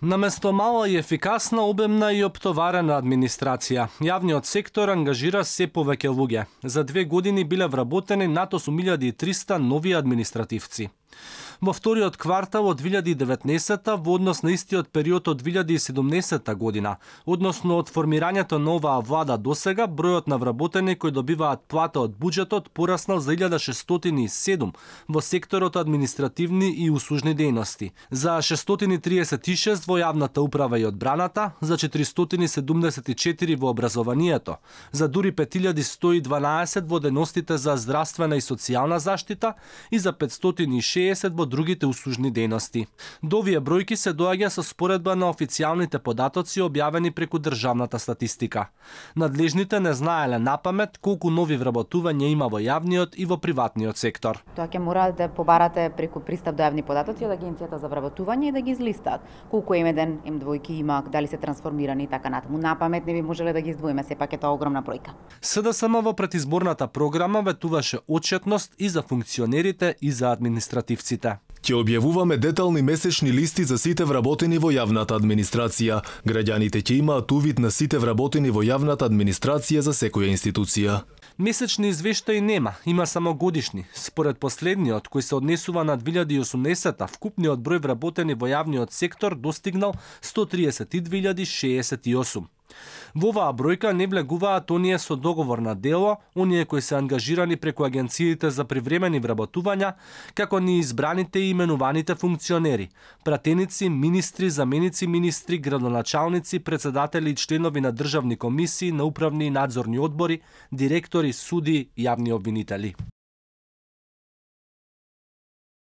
Наместо мала и ефикасна, обемна и оптоварена администрација, јавниот сектор ангажира се повеќе луѓе. За 2 години биле вработени над 8300 нови административци. Во вториот квартал од 2019 во однос на истиот период од 2017 година, односно од формирањето на оваа влада досега, бројот на вработени кои добиваат плата од буџетот пораснал за 1607 во секторот административни и услужни дејности, за 636 во јавната управа и одбраната, за 474 во образованието, за дури 5112 во дејностите за здравствена и социјална заштита и за 560 во другите услужни дејности. До овие бројки се доаѓа со споредба на официјалните податоци објавени преку државната статистика. Надлежните не знаеле напамет колку нови вработувања има во јавниот и во приватниот сектор. Тоа ќе мора да побарате преку пристап до јавни податоци од Агенцијата за вработување и да ги излистаат. Колку емеден М2 има, дали се трансформирани и така натаму. Напамет не би можеле да ги издвоиме, сепак е тоа огромна бројка. СДСМ во предизборната програма ветуваше отчетност и за функционерите и за административците. Ќе објавуваме детални месечни листи за сите вработени во јавната администрација. Граѓаните ќе имаат увид на сите вработени во јавната администрација за секоја институција. Месечни извештаи нема, има само годишни. Според последниот, кој се однесува на 2018, вкупниот број вработени во јавниот сектор достигнал 132.068. Во оваа бројка не влегуваат оние со договор на дело, оние кои се ангажирани преку агенциите за привремени вработувања, како ни избраните и именуваните функционери, пратеници, министри, заменици министри, градоначалници, председатели и членови на државни комисии, на управни и надзорни одбори, директори, суди, јавни обвинители.